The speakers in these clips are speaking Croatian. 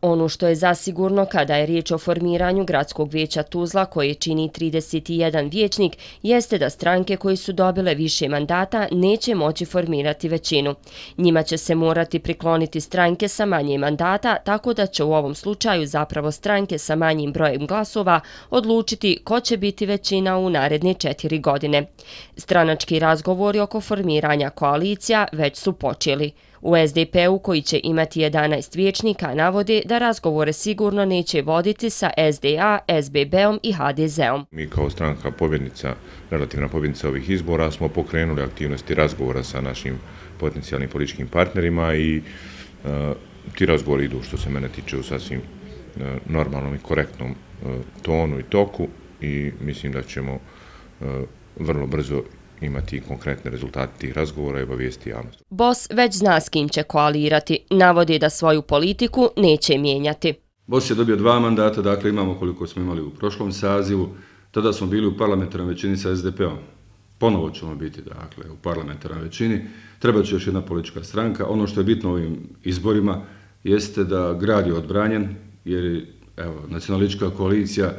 Ono što je zasigurno kada je riječ o formiranju Gradskog vijeća Tuzla, koje čini 31 vijećnik, jeste da stranke koje su dobile više mandata neće moći formirati većinu. Njima će se morati prikloniti stranke sa manje mandata, tako da će u ovom slučaju zapravo stranke sa manjim brojem glasova odlučiti ko će biti većina u naredne 4 godine. Stranački razgovori oko formiranja koalicija već su počeli. U SDP-u, koji će imati 11 vijećnika, navode da razgovore sigurno neće voditi sa SDA, SBB-om i HDZ-om. Mi kao stranka pobjednica, relativna pobjednica ovih izbora, smo pokrenuli aktivnosti razgovora sa našim potencijalnim političkim partnerima i ti razgovori idu, što se mene tiče, u sasvim normalnom i korektnom tonu i toku i mislim da ćemo vrlo brzo imati konkretne rezultate tih razgovora i obavijesti javnost. BOS već zna s kim će koalirati. Navodi da svoju politiku neće mijenjati. BOS je dobio 2 mandata, dakle imamo koliko smo imali u prošlom sazivu. Tada smo bili u parlamentarnoj većini sa SDP-om. Ponovo ćemo biti, dakle, u parlamentarnoj većini. Treba će još jedna politička stranka. Ono što je bitno ovim izborima jeste da grad je odbranjen, jer evo, nacionalistička koalicija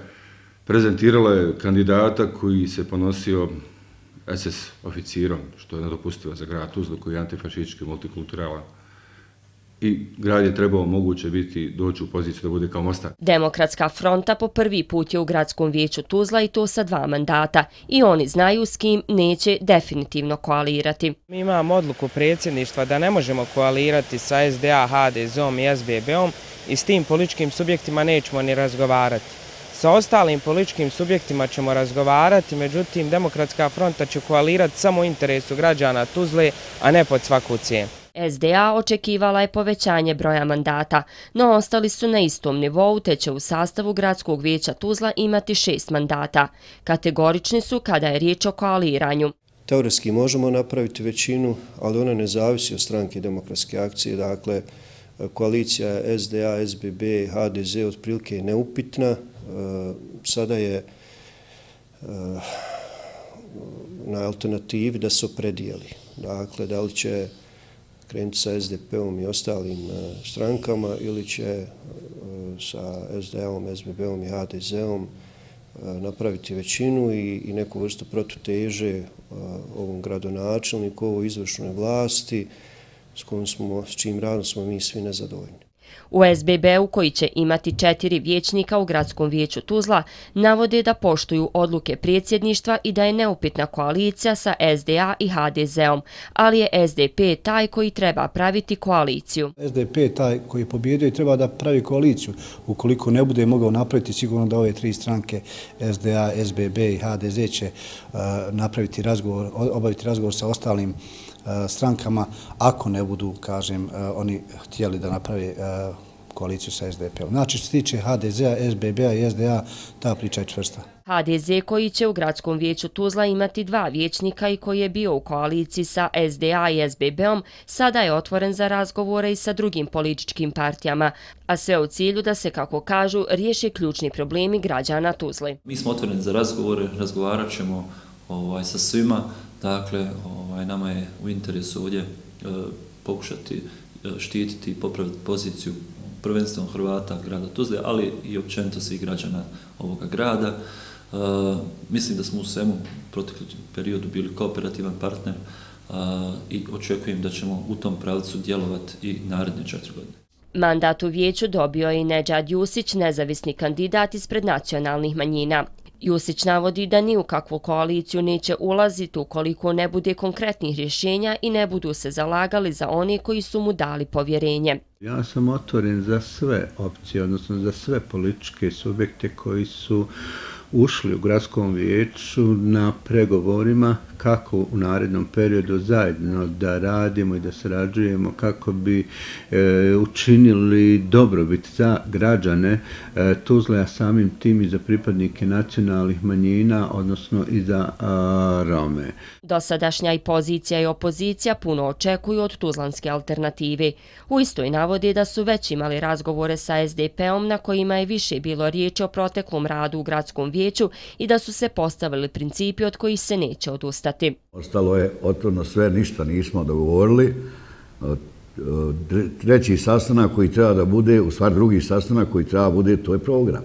prezentirala je kandidata koji se ponosio SS oficirom, što je nedopustivo za grad Tuzlu, koji je antifašistički, multikulturalan. I grad je trebao moguće doći u poziciju da bude kao Mostar. Demokratska fronta po prvi put je u Gradskom vijeću Tuzla i to sa 2 mandata. I oni znaju s kim neće definitivno koalirati. Mi imamo odluku predsjedništva da ne možemo koalirati sa SDA, HDZ-om i SBB-om i s tim političkim subjektima nećemo ni razgovarati. Sa ostalim političkim subjektima ćemo razgovarati, međutim, Demokratska fronta će koalirati samo u interesu građana Tuzle, a ne pod svaku cijenu. SDA očekivala je povećanje broja mandata, no ostali su na istom nivou, te će u sastavu Gradskog vijeća Tuzla imati 6 mandata. Kategorični su kada je riječ o koaliranju. Teoretski možemo napraviti većinu, ali ona ne zavisi od stranke Demokratske akcije. Dakle, koalicija SDA, SBB i HDZ otprilike je neupitna. Sada je na alternativi da se opredijeli. Dakle, da li će krenuti sa SDP-om i ostalim strankama ili će sa SDA-om, SBB-om i HDZ-om napraviti većinu i neku vrstu protuteže ovom gradonačelniku, ovoj izvršnoj vlasti s čijim radom smo mi svi nezadovoljni. U SBB-u, koji će imati 4 vijećnika u Gradskom vijeću Tuzla, navode da poštuju odluke predsjedništva i da je neupitna koalicija sa SDA i HDZ-om, ali je SDP taj koji treba praviti koaliciju. SDP je taj koji je pobjedio i treba da pravi koaliciju. Ukoliko ne bude mogao napraviti, sigurno da ove 3 stranke SDA, SBB i HDZ će obaviti razgovor sa ostalim strankama, ako ne budu, kažem, oni htjeli da naprave koaliciju sa SDP-om. Znači, što se tiče HDZ-a, SBB-a i SDA, ta priča je čvrsta. HDZ, koji će u Gradskom vijeću Tuzla imati 2 vijećnika i koji je bio u koaliciji sa SDA i SBB-om, sada je otvoren za razgovore i sa drugim političkim partijama, a sve u cilju da se, kako kažu, riješi ključni problemi građana Tuzle. Mi smo otvoreni za razgovore, razgovarat ćemo sa svima. Dakle, nama je u interesu ovdje pokušati štititi i popraviti poziciju prvenstveno Hrvata grada Tuzle, ali i općenito svih građana ovoga grada. Mislim da smo u svemu proteklom periodu bili kooperativan partner i očekujem da ćemo u tom pravcu djelovati i naredne 4 godine. Mandat u vijeću dobio je i Nedžad Jusić, nezavisni kandidat ispred nacionalnih manjina. Jusić navodi da ni u kakvu koaliciju neće ulaziti ukoliko ne bude konkretnih rješenja i ne budu se zalagali za one koji su mu dali povjerenje. Ja sam otvoren za sve opcije, odnosno za sve političke subjekte koji su ušli u Gradskom vijeću na pregovorima kako u narednom periodu zajedno da radimo i da sarađujemo kako bi učinili dobrobit za građane Tuzle, a samim tim i za pripadnike nacionalnih manjina, odnosno i za Rome. Dosadašnja i pozicija i opozicija puno očekuju od tuzlanske alternative. U istoj navodi da su već imali razgovore sa SDP-om na kojima je više bilo riječi o proteklom radu u Gradskom vijeću i da su se postavili principi od kojih se neće odustati. Ostalo je otvoreno sve, ništa nismo dogovorili. treći sastanak koji treba da bude, u stvari drugi sastanak koji treba da bude, to je program.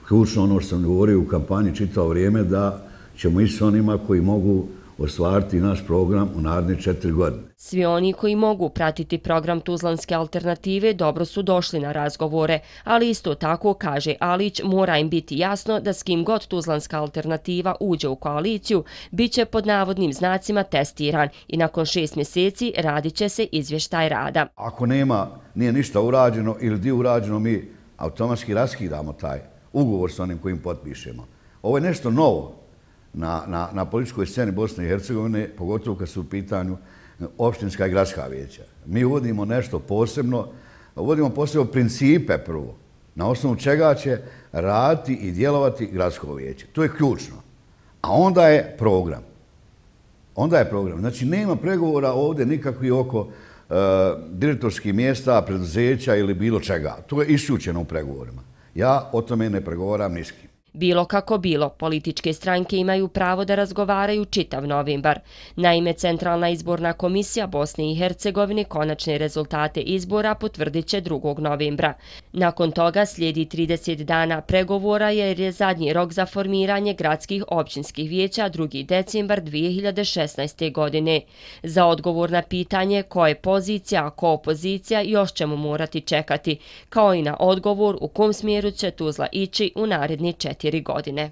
Ključno ono što sam govorio u kampanji čitao vrijeme da ćemo ići s onima koji mogu ostvariti naš program u naredne 4 godine. Svi oni koji mogu pratiti program Tuzlanske alternative dobro su došli na razgovore, ali isto tako, kaže Alić, mora im biti jasno da s kim god Tuzlanska alternativa uđe u koaliciju, bit će pod navodnim znacima testiran i nakon 6 mjeseci radit će se izvještaj rada. Ako nije ništa urađeno ili dio urađeno, mi automatski raskidamo taj ugovor s onim kojim potpišemo. Ovo je nešto novo na političkoj sceni Bosne i Hercegovine, pogotovo kad su u pitanju opštinska i gradska vijeća. Mi uvodimo nešto posebno, uvodimo posebno principe prvo, na osnovu čega će raditi i djelovati gradsko vijeće. To je ključno. A onda je program. Znači, nema pregovora ovdje nikakvih oko direktorskih mjesta, preduzeća ili bilo čega. To je isključeno u pregovorima. Ja o tome ne pregovaram ni s kim. Bilo kako bilo, političke stranke imaju pravo da razgovaraju čitav novembar. Naime, Centralna izborna komisija Bosne i Hercegovine konačne rezultate izbora potvrdit će 2. novembra. Nakon toga slijedi 30 dana pregovora jer je zadnji rok za formiranje gradskih općinskih vijeća 2. decembar 2016. godine. Za odgovor na pitanje ko je pozicija, a ko opozicija još ćemo morati čekati, kao i na odgovor u kom smjeru će Tuzla ići u naredne 4 godine.